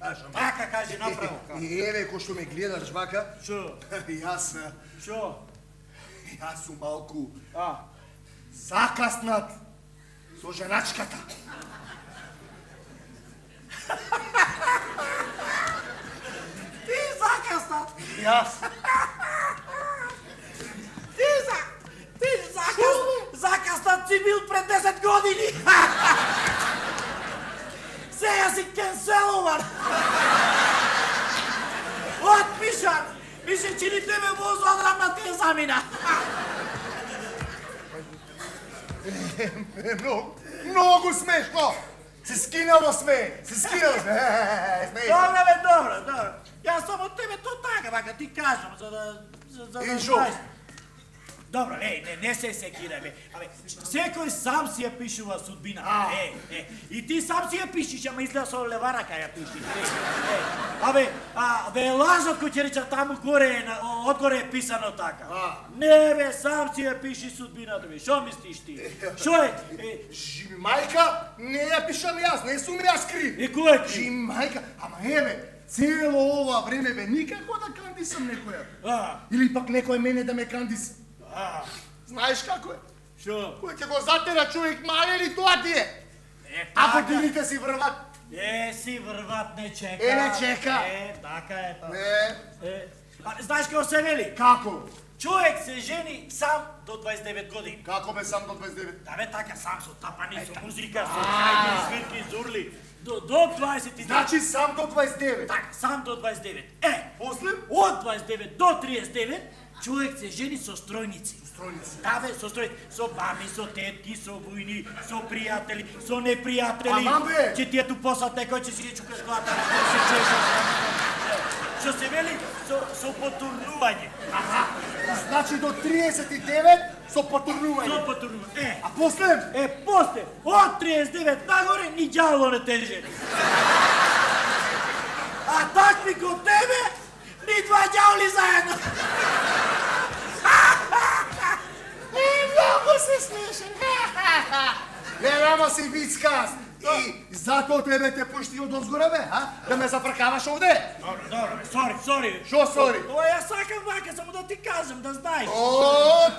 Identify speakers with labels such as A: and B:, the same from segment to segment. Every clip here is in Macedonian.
A: кажам.
B: Така кажи направо.
A: И еве кој што ме гледаш вака.
B: Шо?
A: Јас.
B: Шо?
A: Јас сум малку
B: А?
A: закаснат со женачката.
B: Ти закаснат.
A: Јас.
B: Ти закаснат си бил пред 10 години. Сега си кенселуван. Отпишан. Мише, че ни тебе воз одрамна те замина.
A: Многу смешно. Се скинало сме.
B: Добро бе, добро. Јас само тебе то така, вака ти кажам, за да
A: И шо?
B: знаеш. Добро, не се секирај, бе. Абе, секој сам си ја пишува судбина. И ти сам си ја пишиш, ама изгледа со лева рака ја пишиш. Абе, лажот кој ќе рече таму горе, одгоре е писано така. Не, бе, сам си ја пиши судбината, бе. Шо мислиш ти? Шо е?
A: Мајка, не ја пишам јас, не сум јас крив.
B: И кој е крив?
A: Мајка, ама еве, цело ова време бе никако да кандисам некоја. Или пак некој мене да ме кандиса. Знаеш како е?
B: Шо?
A: Кој ќе го затера човек мале тоа ти е? А годините си врват.
B: Си врват, не чека.
A: Не чека.
B: Така е.
A: Не.
B: Знаеш како се вели?
A: Како?
B: Човек се жени сам до 29 години.
A: Како бе сам до 29?
B: Да бе така, сам со тапани, со музика, со хајди, свирки, зурли. До 29.
A: Значи сам до 29.
B: Така, сам до 29.
A: После?
B: Од 29 до 39, човек се жени со стројници.
A: Стројници.
B: Да бе, со стројници. Со баби, со тетки, со војни, со пријатели, со непријатели.
A: Ама бе!
B: Че ти ето посад некој че си чукаш глата, се чешаш. Што се вели со потурнување.
A: Значи до 39 со потурнување.
B: Со потурнување.
A: А после?
B: После, од 39 нагоре, ни ѓавло не те жени. А такви ко тебе, ни два ѓавли заедно.
A: Многу се смешен. Ама си вицкас. И затоа тебе те пушти од озгора, бе, да ме зафркаваш овде.
B: Добро, сори.
A: Шо сори?
B: Тоа ја сакам вака, само да ти кажам, да знаеш.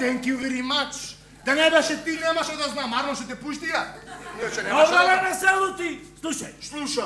A: Thank you very much. Да не беше ти, немаше да знам, Арно ще те пушти ја.
B: Добро, не се лути. Слушај.
A: Слушам.